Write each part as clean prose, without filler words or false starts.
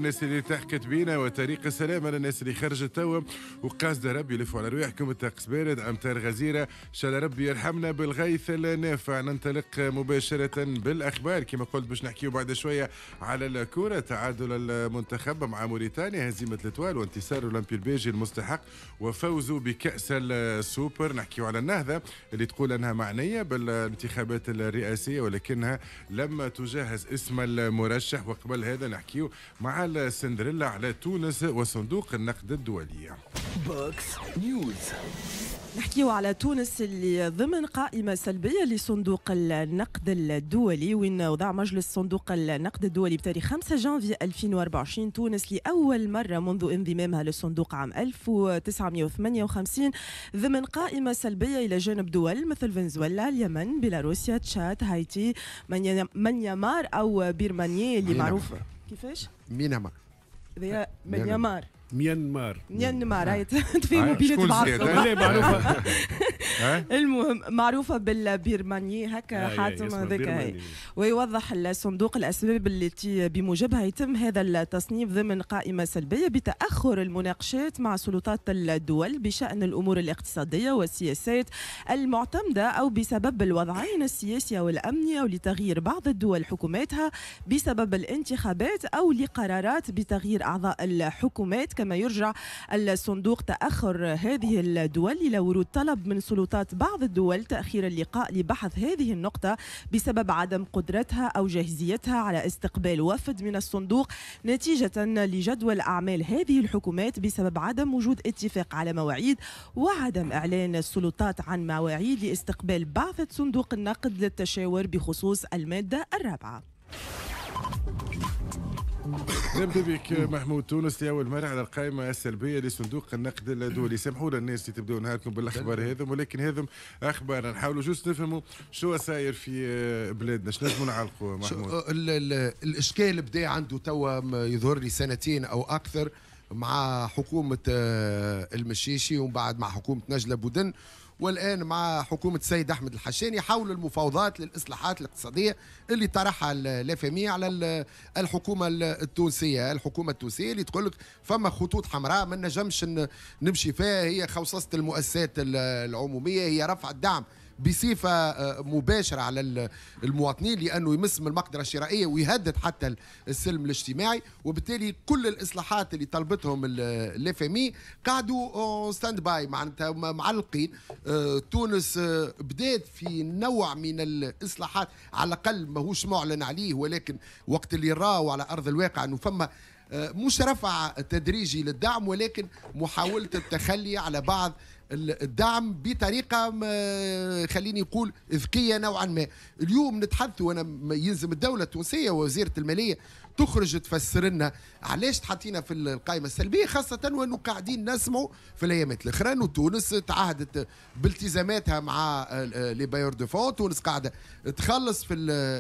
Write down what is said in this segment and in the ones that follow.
الناس اللي التحقت بينا وطريق السلامة للناس اللي خرجت توا وقاصدة ربي يلفوا على رواحكم. الطقس بارد، أمطار غزيرة، إن شاء الله ربي يرحمنا بالغيث النافع. ننطلق مباشرة بالأخبار كما قلت باش نحكيو بعد شوية على الكرة، تعادل المنتخب مع موريتانيا، هزيمة l'Étoile وانتصار أولمبي الباجي المستحق وفوزه بكأس السوبر. نحكيو على النهضة اللي تقول أنها معنية بالانتخابات الرئاسية ولكنها لم تجهز اسم المرشح، وقبل هذا نحكيو مع السندريلا على تونس وصندوق النقد الدولي. Box News. نحكيو على تونس اللي ضمن قائمة سلبية لصندوق النقد الدولي، وين وضع مجلس صندوق النقد الدولي بتاريخ 5 جانفي 2024 تونس لأول مرة منذ انضمامها للصندوق عام 1958 ضمن قائمة سلبية إلى جانب دول مثل فنزويلا، اليمن، بيلاروسيا، تشاد، هايتي، ميانمار أو بيرمانيا اللي معروفة كيفاش؟ مينما ميانمار ميانمار ميانمار هاي تفهموا بينات بعضكم. المهم معروفة بالبيرمانية هكا حاتم هذاك. ويوضح الصندوق الأسباب التي بموجبها يتم هذا التصنيف ضمن قائمة سلبية بتأخر المناقشات مع سلطات الدول بشأن الأمور الاقتصادية والسياسات المعتمدة، أو بسبب الوضعين السياسي والأمني، أو لتغيير بعض الدول حكوماتها بسبب الانتخابات، أو لقرارات بتغيير أعضاء الحكومات. كما يرجع الصندوق تأخر هذه الدول إلى ورود طلب من سلطات بعض الدول تأخير اللقاء لبحث هذه النقطة بسبب عدم قدرتها أو جاهزيتها على استقبال وفد من الصندوق نتيجة لجدول أعمال هذه الحكومات بسبب عدم وجود اتفاق على مواعيد وعدم إعلان السلطات عن مواعيد لاستقبال بعثة صندوق النقد للتشاور بخصوص المادة الرابعة. نبدا بك محمود. تونس لاول مرة على القائمة السلبية لصندوق النقد الدولي. سامحوا لنا الناس اللي تبداو نهاركم بالاخبار هذم، ولكن هذم اخبار نحاولوا juste نفهموا شو صاير في بلادنا. شنو نجموا نعلقوا محمود؟ الاشكال بدا عنده توا يظهر لي سنتين او اكثر مع حكومة المشيشي، ومن بعد مع حكومة نجلة بودن، والآن مع حكومة السيد أحمد الحشاني حول المفاوضات للإصلاحات الاقتصادية اللي طرحها ال FMI على الحكومة التونسية. الحكومة التونسية اللي تقول لك فما خطوط حمراء ما نجمش نمشي فيها، هي خوصصة المؤسسات العمومية، هي رفع الدعم بصفة مباشرة على المواطنين لأنه يمس من المقدرة الشرائية ويهدد حتى السلم الاجتماعي. وبالتالي كل الإصلاحات اللي طلبتهم ال FMI قعدوا stand-by، معناتها معلقين. تونس بدات في نوع من الإصلاحات على الأقل ماهوش معلن عليه، ولكن وقت اللي راوا على أرض الواقع أنه فما مش رفع تدريجي للدعم، ولكن محاولة التخلي على بعض الدعم بطريقة خليني نقول ذكية نوعا ما. اليوم نتحدث، وأنا يلزم الدولة التونسية ووزيرة المالية تخرج تفسر لنا علاش تحطينا في القائمة السلبية، خاصة وأنه قاعدين نسمعوا في الأيامات الأخرى أنه تونس تعهدت بالتزاماتها مع les bailleurs de fonds، تونس قاعدة تخلص في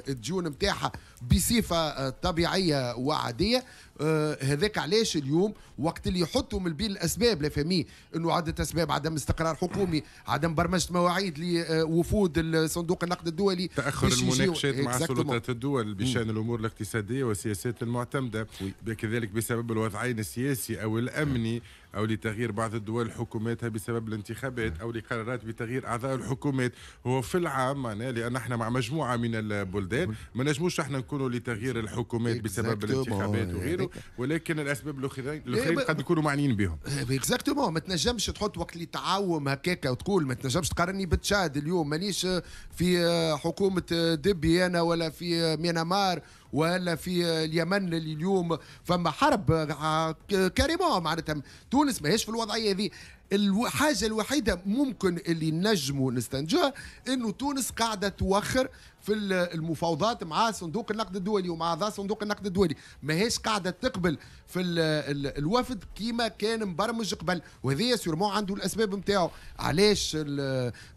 الديون نتاعها بصفة طبيعية وعادية. هذاك علاش اليوم وقت اللي يحطوا من بين الأسباب ال FMI أنه عدة أسباب، عدم استقرار حكومي، عدم برمجة مواعيد لوفود صندوق النقد الدولي، تأخر المناقشات مع سلطات الدول بشأن الأمور الاقتصادية والسياسات المعتمدة، كذلك بسبب الوضعين السياسي أو الأمني، أو لتغيير بعض الدول حكوماتها بسبب الانتخابات، أو لقرارات بتغيير أعضاء الحكومات. هو في العام معناه لأن احنا مع مجموعة من البلدان ما نجموش احنا نكونوا لتغيير الحكومات بسبب الانتخابات وغيره، ولكن الأسباب الأخرين قد يكونوا معنيين بهم. exactement، ما تنجمش تحط وقت اللي تعاوم هكاكا وتقول ما تنجمش تقارني بتشاد اليوم، مانيش في حكومة دبي أنا، ولا في ميانمار، ولا في اليمن اللي اليوم فما حرب carrément. معناتها تونس ماهيش في الوضعية هذه. الحاجة الوحيدة ممكن اللي نجموا نستنجوها انه تونس قاعدة توخر في المفاوضات مع صندوق النقد الدولي ومع اعضاء صندوق النقد الدولي، ماهيش قاعدة تقبل في الوفد كيما كان مبرمج قبل، وهذه sûrement عنده الاسباب نتاعو علاش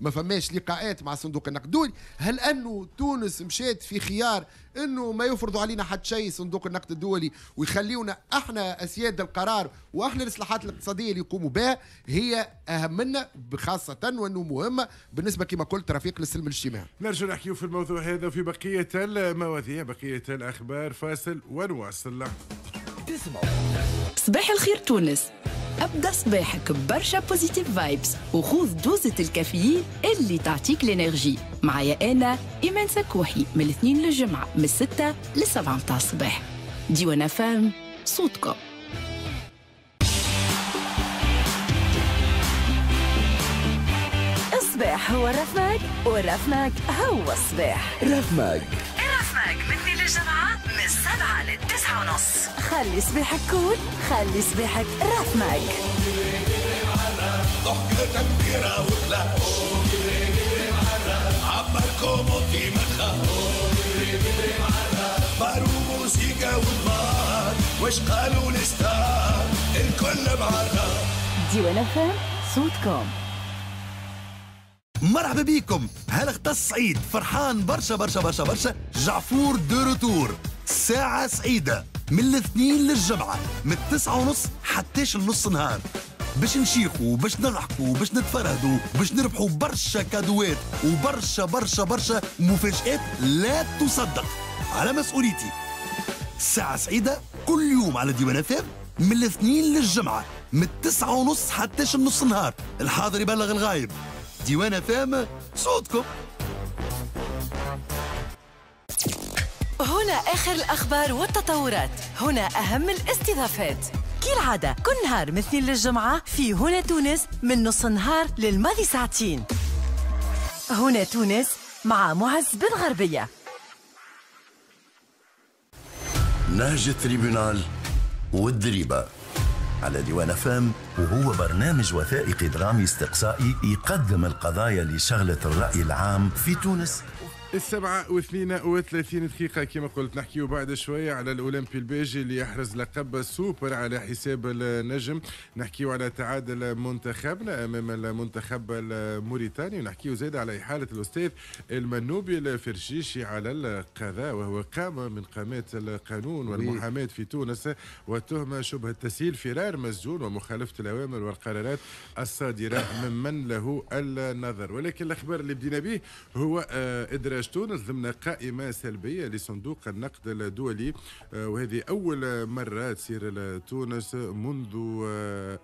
ما فماش لقاءات مع صندوق النقد الدولي. هل انه تونس مشات في خيار انه ما يفرضوا علينا حتى شيء صندوق النقد الدولي ويخليونا احنا اسياد القرار واحنا الاصلاحات الاقتصادية اللي يقوموا بها هي اهم منا، خاصة وانه مهمة بالنسبة كما قلت رفيق للسلم الاجتماعي. نرجع نحكيو في الموضوع هذا وفي بقية المواضيع، بقية الاخبار. فاصل ونواصل. تسمعوا. صباح الخير تونس، ابدا صباحك برشا positive vibes وخذ دوزة الكافيين اللي تعطيك l'énergie. معايا انا ايمان سكوحي من الاثنين للجمعة من 6 ل 7 متاع الصباح. ديوان FM صوتكم. الصباح هو الرفماك والرفماك هو الصباح. رفماك الرفماك من اثنين للجمعة من 7 ل 9:30. خلي صباحك cool، خلي صباحك رفماك. ضحكة تكبيرة وكلاش عبركم وطي ما تخافوا بارو موسيقى ودمار واش قالوا ال stars الكل معرّة. ديوان FM صوتكم. مرحبا بكم. هل سعيد فرحان برشا برشا برشا برشا. جعفور de retour، ساعة سعيدة من الاثنين للجمعة من 9:30 حتى النص نهار، باش نشيخوا باش نضحكوا باش نتفرهدوا باش نربحوا برشا كادوات وبرشا برشا برشا مفاجآت لا تصدق. على مسؤوليتي ساعة سعيدة كل يوم على ديوان FM من الاثنين للجمعة من 9:30 حتى النص نهار. الحاضر يبلغ الغايب. ديوان FM صوتكم. هنا آخر الأخبار والتطورات، هنا أهم الاستضافات. كالعادة كل نهار من اثنين للجمعة في هنا تونس من نص نهار للماضي ساعتين. هنا تونس مع معز بن غربية. نهج ال tribunal والدريبة على ديوان FM، وهو برنامج وثائقي درامي استقصائي يقدم القضايا اللي شغلت الرأي العام في تونس. 7:32 كما قلت، نحكيو بعد شوية على الأولمبي الباجي اللي يحرز لقب السوبر على حساب النجم، نحكيو على تعادل منتخبنا أمام المنتخب الموريتاني، ونحكيو زاد على إحالة الأستاذ المنوبي الفرشيشي على القضاء، وهو قامة من قامات القانون والمحاماة في تونس، والتهمة شبهة تسهيل فرار مسجون ومخالفة الأوامر والقرارات الصادرة ممن له النظر. ولكن الأخبار اللي بدينا به هو إدراج تونس ضمن قائمة سلبية لصندوق النقد الدولي، وهذه أول مرة تصير تونس منذ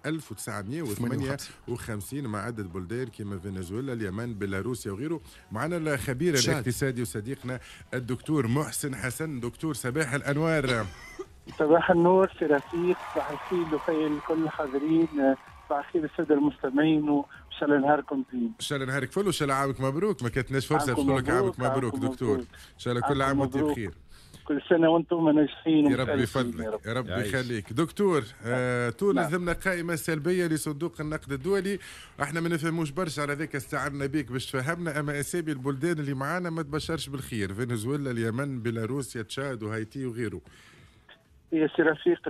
1958 مع عدة بلدان كما فنزويلا، اليمن، بيلاروسيا وغيره. معنا الخبير الاقتصادي وصديقنا الدكتور محسن حسن. دكتور صباح الأنوار. صباح النور سي رفيق، صباح الخير وخير لكل الحاضرين، صباح الخير السادة المستمعين، وان شاء الله نهاركم زين. ان شاء الله نهارك فل وان شاء الله عامك مبروك. ما كانتناش فرصة باش نقول لك عامك مبروك دكتور. ان شاء الله كل عام وانت بخير. كل سنة وانتم ناجحين. يا ربي يفضلك، يا ربي يخليك. دكتور، تونس ضمن قائمة سلبية لصندوق النقد الدولي، احنا ما نفهموش برشا على ذاك استعنا بك باش تفهمنا، اما اسامي البلدان اللي معانا ما تبشرش بالخير، فنزويلا، اليمن، بيلاروسيا، تشاد وهايتي وغيره. يا سي رفيق،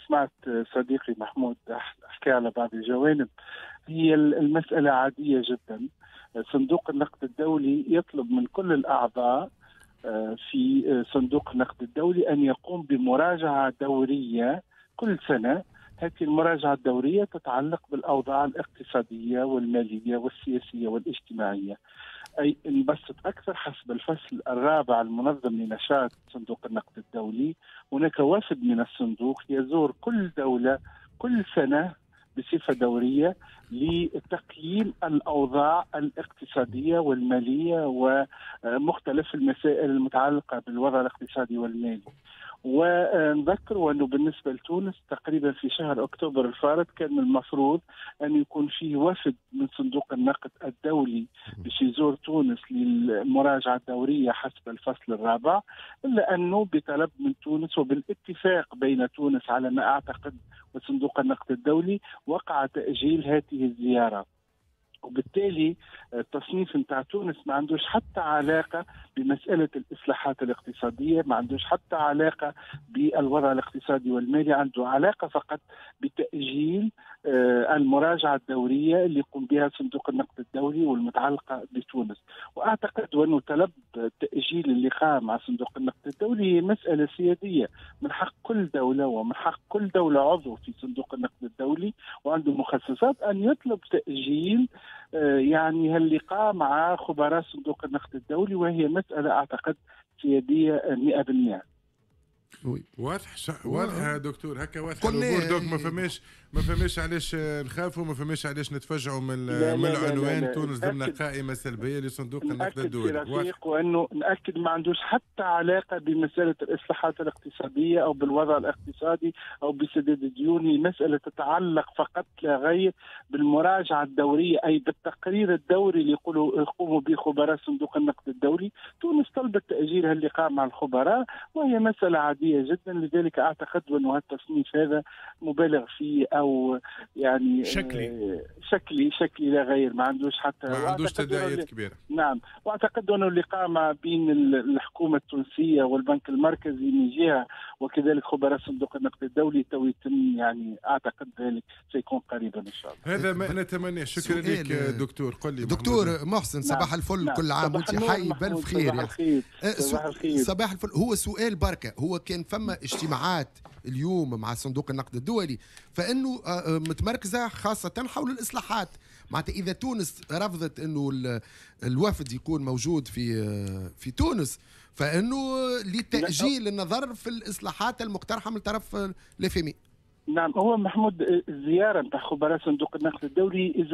سمعت صديقي محمود حكى على بعض الجوانب. هي المسألة عادية جدا. صندوق النقد الدولي يطلب من كل الأعضاء في صندوق النقد الدولي أن يقوم بمراجعة دورية كل سنة. هذه المراجعة الدورية تتعلق بالأوضاع الاقتصادية والمالية والسياسية والاجتماعية. أي نبسط أكثر، حسب الفصل الرابع المنظم لنشاط صندوق النقد الدولي، هناك وفد من الصندوق يزور كل دولة كل سنة بصفة دورية لتقييم الأوضاع الاقتصادية والمالية ومختلف المسائل المتعلقة بالوضع الاقتصادي والمالي. ونذكر أنه بالنسبة لتونس تقريبا في شهر أكتوبر الفارط كان من المفروض أن يكون فيه وفد من صندوق النقد الدولي باش يزور تونس للمراجعة الدورية حسب الفصل الرابع، إلا أنه بطلب من تونس وبالاتفاق بين تونس على ما أعتقد وصندوق النقد الدولي وقع تأجيل هذه الزيارة. وبالتالي التصنيف نتاع تونس ما عندوش حتى علاقة بمسألة الإصلاحات الاقتصادية، ما عندوش حتى علاقة بالوضع الاقتصادي والمالي، عنده علاقة فقط بتأجيل المراجعة الدورية اللي يقوم بها صندوق النقد الدولي والمتعلقة بتونس. وأعتقد أنه طلب تأجيل اللقاء مع صندوق النقد الدولي مسألة سيادية، من حق كل دولة ومن حق كل دولة عضو في صندوق النقد الدولي وعنده مخصصات أن يطلب تأجيل يعني هاللقاء مع خبراء صندوق النقد الدولي، وهي مسألة أعتقد سيادية 100%. واضح واضح دكتور، هكا واضح الامور. donc ما فماش علاش نخافوا، ما فماش علاش نتفجعوا من العنوان تونس ضمن قائمة سلبية لصندوق النقد الدولي. وانه ناكد ما عندوش حتى علاقة بمسالة الاصلاحات الاقتصادية او بالوضع الاقتصادي او بسداد الديون. مسالة تتعلق فقط لا غير بالمراجعة الدورية، اي بالتقرير الدوري اللي يقوموا به خبراء صندوق النقد الدولي. تونس طلبت تاجيل اللقاء مع الخبراء وهي مسالة عادية جدا، لذلك اعتقد انه التصنيف هذا مبالغ فيه او يعني شكلي لا غير، ما عندوش حتى ما عندوش تداعيات كبيرة. نعم، واعتقد انه اللقاء ما بين الحكومة التونسية والبنك المركزي من جهة وكذلك خبراء صندوق النقد الدولي تو يتم، يعني اعتقد ذلك سيكون قريبا ان شاء الله. هذا ما نتمناه. شكرا لك دكتور. قل لي دكتور محسن. نعم. صباح الفل. نعم. كل عام وانت حي بالف خير. صباح الخير. صباح الفل. هو سؤال بركة، هو كان فما اجتماعات اليوم مع صندوق النقد الدولي فانه متمركزه خاصة حول الاصلاحات، معناتها اذا تونس رفضت انه الوفد يكون موجود في تونس فانه لتاجيل النظر في الاصلاحات المقترحة من طرف ال FMI. نعم، هو محمود الزيارة نتاع خبراء صندوق النقد الدولي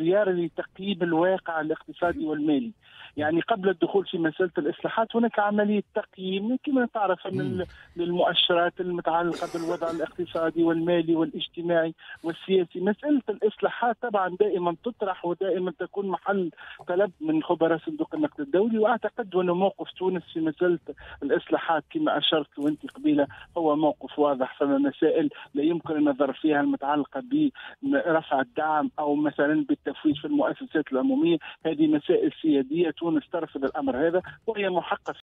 زيارة لتقييم الواقع الاقتصادي والمالي. يعني قبل الدخول في مسألة الإصلاحات هناك عملية تقييم كما تعرف من للمؤشرات المتعلقة بالوضع الاقتصادي والمالي والاجتماعي والسياسي. مسألة الإصلاحات طبعا دائما تطرح ودائما تكون محل طلب من خبراء صندوق النقد الدولي، وأعتقد أن موقف تونس في مسألة الإصلاحات كما أشرت وأنت قبيلة هو موقف واضح. فما مسائل لا يمكن النظر فيها المتعلقة برفع الدعم أو مثلا بالتفويت في المؤسسات العمومية، هذه مسائل سيادية تونس ترفض الأمر هذا وهي محقة.